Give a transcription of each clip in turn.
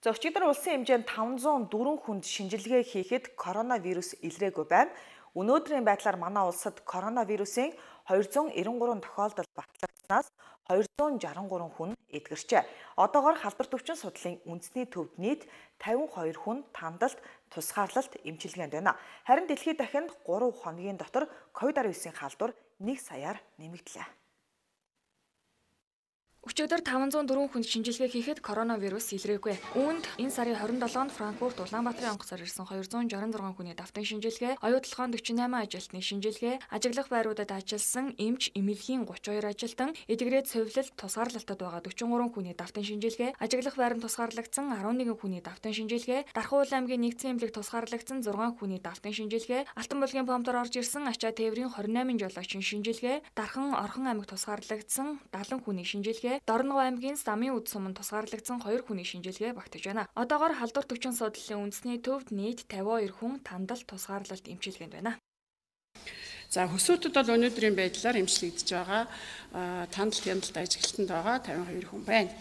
За өчигдөр улсын хэмжээнд 504 хүнд шинжилгээ хийхэд коронавирус илрээгүй байна. Өнөөдрийн байдлаар манай улсад коронавирусын 293 тохиолдол батлагдсанаас 263 хүн эдгэрчээ. Одоогоор халдвар төвчин судлалын үндэсний төвд нийт 52 хүн тандалт тусгаарлалт эмчилгээнд байна. Харин дэлхийд дахинд 3 хоногийн дотор COVID-19 халдвар 1 саяар нэмэгдлээ. Өчигдөр 504 хүнд шинжилгээ хийхэд коронавирус илрээгүй. Үүнд энэ сарын 27-нд Франкфурт Улаанбаатарын онгоцоор ирсэн 266 хүний давтан шинжилгээ, оюутлагын 48 ажилтны шинжилгээ, ажиглах байруудад ажилласан эмч, эмнэлгийн 32 ажилтан, эдгээрээ цовлолт тусгаарлалтад байгаа 43 хүний давтан шинжилгээ, ажиглах байранд тусгаарлагдсан 11 хүний давтан шинжилгээ, Дархан аймгийн нэгдсэн эмнэлэг тусгаарлагдсан 6 хүний давтан шинжилгээ, Алтан булгийн помтоор орж ирсэн ачаа тээврийн 28 жолоочийн шинжилгээ, Дархан Орхон аймагт тусгаарлагдсан 70 хүний шинжилгээ, Дорногов аймгийн Самын үд суманд тусгаарлагдсан 2 хүний шинжилгээ багтаж байна. Одоогоор халдвар төвчин судлалын үндэсний төвд нийт 52 хүн тандалт тусгаарлалт эмчилгээнд байна. За хөсөөтөд бол өнөөдрийн байдлаар эмчлэгдэж байгаа тандалт хяналт ажиглалтанд байгаа 52 хүн байна.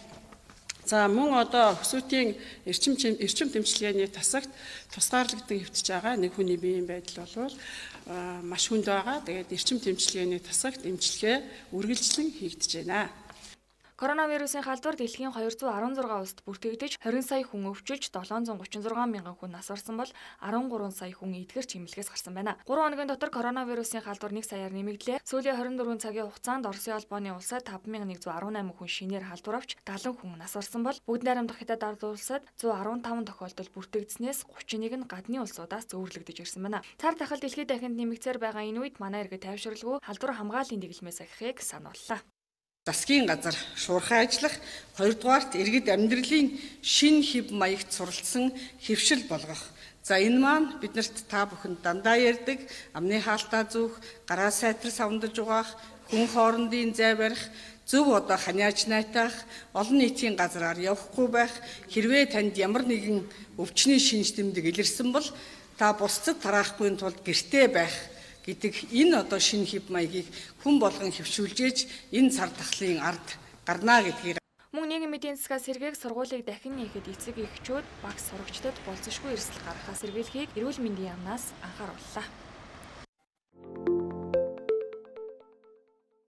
За мөн одоо хөсөөтийн эрчим тэмчилгээний тасагт тусгаарлагдсан хэвтэж байгаа нэг хүний биеийн байдал бол маш хүнд байгаа. Тэгээд эрчим тэмчилгээний тасагт эмчилгээ үргэлжлэн хийгдэж байна. Коронавирусын халдвар дэлхийн 216 улсад бүртгэгдэж 20 сая хүн өвчилж 736 мянган хүн нас орсон бол 13 сая хүн эдгэрч эмнэлгээс гарсан байна. 3 хоногийн дотор коронавирусын халдвар 1 саяар нэмэгдлээ. Сүүлийн 24 цагийн хугацаанд Оросын албаны улсад 5118 хүн шинээр халдвар авч 70 хүн нас орсон бол бүгд найрамдах Хятад ард улсад 115 тохиолдол бүртгэгдснээс 31 нь гадны улсуудаас зөөвөрлөгдөж ирсэн байна. Цар тахал дэлхийд дахинд нэмэгцээр байгаа энэ үед манай иргэд тайвшралгүй халдвар хамгааллын дэглэмээс ахихыг санууллаа. Засгийн газар шуурхай ажиллах, 2-дугаарт иргэд амьдралын шин хэв маягт суралцсан хэвшил болгох. За энэ маань биднэрт та бүхэн дандаа ярьдаг амны хаалтаа зүүх, гараа сайтар савндаж угаах, хүн хоорондын зай барих, зөв одоо ханиаж найтах, олон нийтийн газраар явахгүй байх, хэрвээ танд ямар нэгэн өвчний шинж тэмдэг илэрсэн бол та бусдад тараахгүй тулд гэртээ байх гэдэг энэ одоо шинэ хэв маягийг хүн болгон хэвшүүлжээж энэ цар тахлын ард гарнаа гэдгийг мөн нийгмийн эдийн засгаас сэргээх сургуулийг дахин нээхэд эцэг эхчүүд багш сурагчдад болцсошгүй эрсдэл гаргахаас сэргийлэхийг эрүүл мэндийн яамнаас анхаарууллаа.